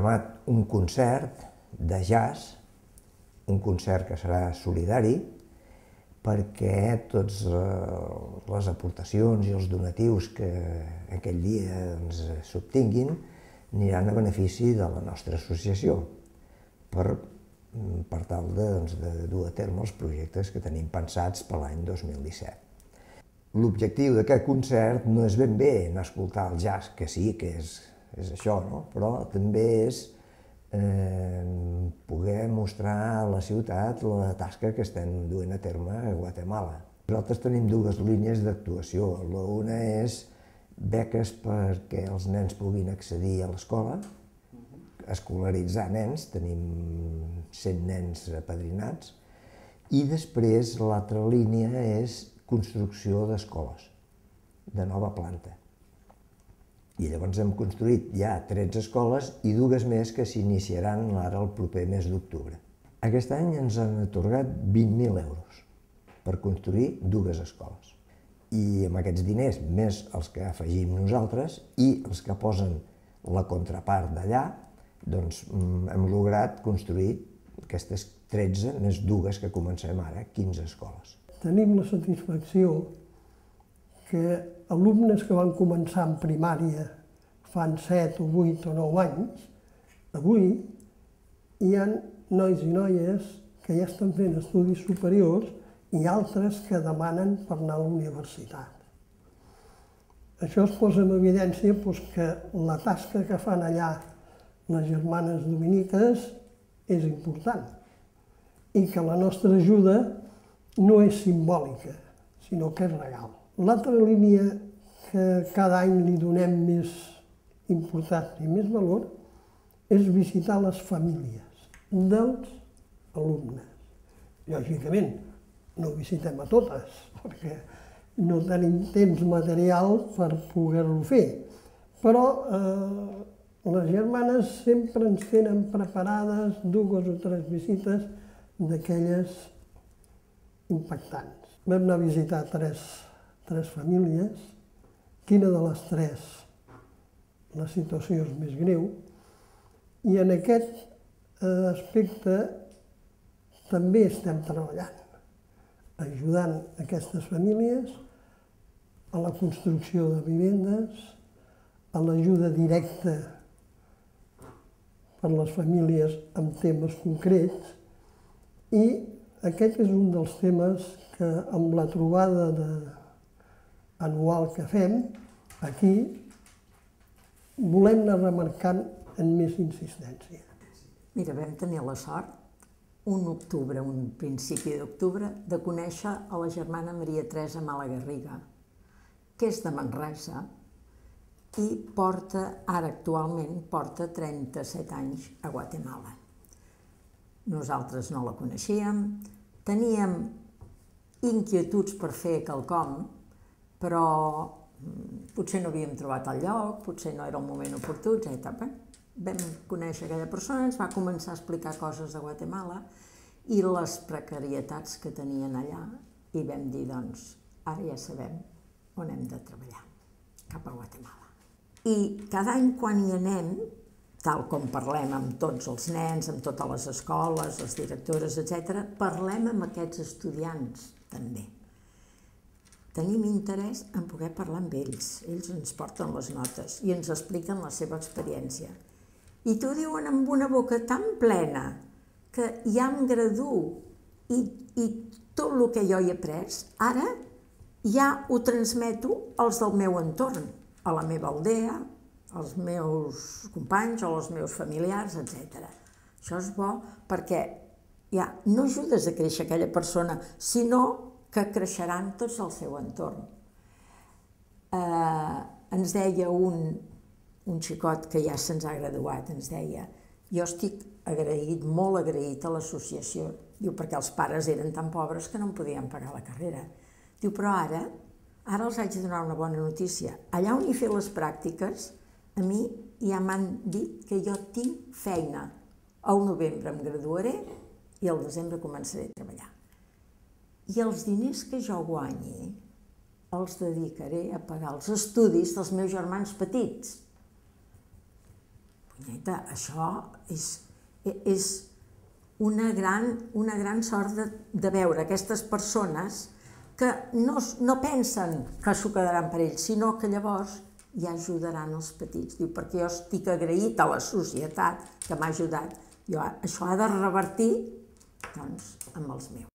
programat un concert de jazz, un concert que serà solidari, perquè totes les aportacions i els donatius que aquell dia s'obtinguin aniran a benefici de la nostra associació per tal de dur a terme els projectes que tenim pensats per l'any 2017. L'objectiu d'aquest concert no és ben bé anar a escoltar el jazz, que sí, que és això, no? Però també és poder mostrar a la ciutat la tasca que estem duent a terme a Guatemala. Nosaltres tenim dues línies d'actuació. Una és beques perquè els nens puguin accedir a l'escola, escolaritzar nens, tenim 100 nens apadrinats, i després l'altra línia és construcció d'escoles, de nova planta. I llavors hem construït ja 13 escoles i dues més que s'iniciaran ara el proper mes d'octubre. Aquest any ens han atorgat 20.000 euros per construir dues escoles. I amb aquests diners, més els que afegim nosaltres i els que posen la contrapart d'allà, doncs hem lograt construir aquestes 13 més dues que comencem ara, 15 escoles. Tenim la satisfacció que alumnes que van començar en primària fan 7 o 8 o 9 anys, avui hi ha nois i noies que ja estan fent estudis superiors i altres que demanen per anar a la universitat. Això es posa en evidència que la tasca que fan allà les germanes dominiques és important i que la nostra ajuda no és simbòlica, sinó que és real. L'altra línia que cada any li donem més importància i més valor és visitar les famílies dels alumnes. Lògicament, no visitem a totes, perquè no tenim temps material per poder-ho fer, però les germanes sempre ens tenen preparades 2 o 3 visites d'aquelles impactants. Vam anar a visitar tres famílies, quina de les 3 la situació és més greu, i en aquest aspecte també estem treballant, ajudant aquestes famílies a la construcció de vivendes, a l'ajuda directa per les famílies amb temes concrets, i aquest és un dels temes que amb la trobada anual que fem aquí volem anar remarcant amb més insistència. Mira, vam tenir la sort, un principi d'octubre, de conèixer a la germana Maria Teresa Malagarriga, que és de Manresa i ara actualment porta 37 anys a Guatemala. Nosaltres no la coneixíem, teníem inquietuds per fer quelcom, però potser no havíem trobat el lloc, potser no era el moment oportú, etc. Vam conèixer aquella persona, ens va començar a explicar coses de Guatemala i les precarietats que tenien allà, i vam dir, doncs, ara ja sabem on hem de treballar, cap a Guatemala. I cada any quan hi anem, tal com parlem amb tots els nens, amb totes les escoles, les directores, etc., parlem amb aquests estudiants també. Tenim interès en poder parlar amb ells. Ells ens porten les notes i ens expliquen la seva experiència. I t'ho diuen amb una boca tan plena que ja em graduo i tot el que jo hi he après, ara ja ho transmeto als del meu entorn, a la meva aldea, als meus companys o als meus familiars, etc. Això és bo perquè ja no ajudes a créixer aquella persona, sinó que creixeran tots al seu entorn. Ens deia un xicot que ja se'ns ha graduat, ens deia, jo estic agraït, molt agraït a l'associació, diu, perquè els pares eren tan pobres que no em podien pagar la carrera. Diu, però ara els haig de donar una bona notícia. Allà on he fet les pràctiques, a mi ja m'han dit que jo tinc feina. Al novembre em graduaré i al desembre començaré a treballar. I els diners que jo guanyi els dedicaré a pagar els estudis dels meus germans petits. punyeta, això és una gran sort de veure aquestes persones que no pensen que s'ho quedaran per ells, sinó que llavors ja ajudaran els petits. Diu, perquè jo estic agraït a la societat que m'ha ajudat. Jo això ha de revertir, doncs, amb els meus.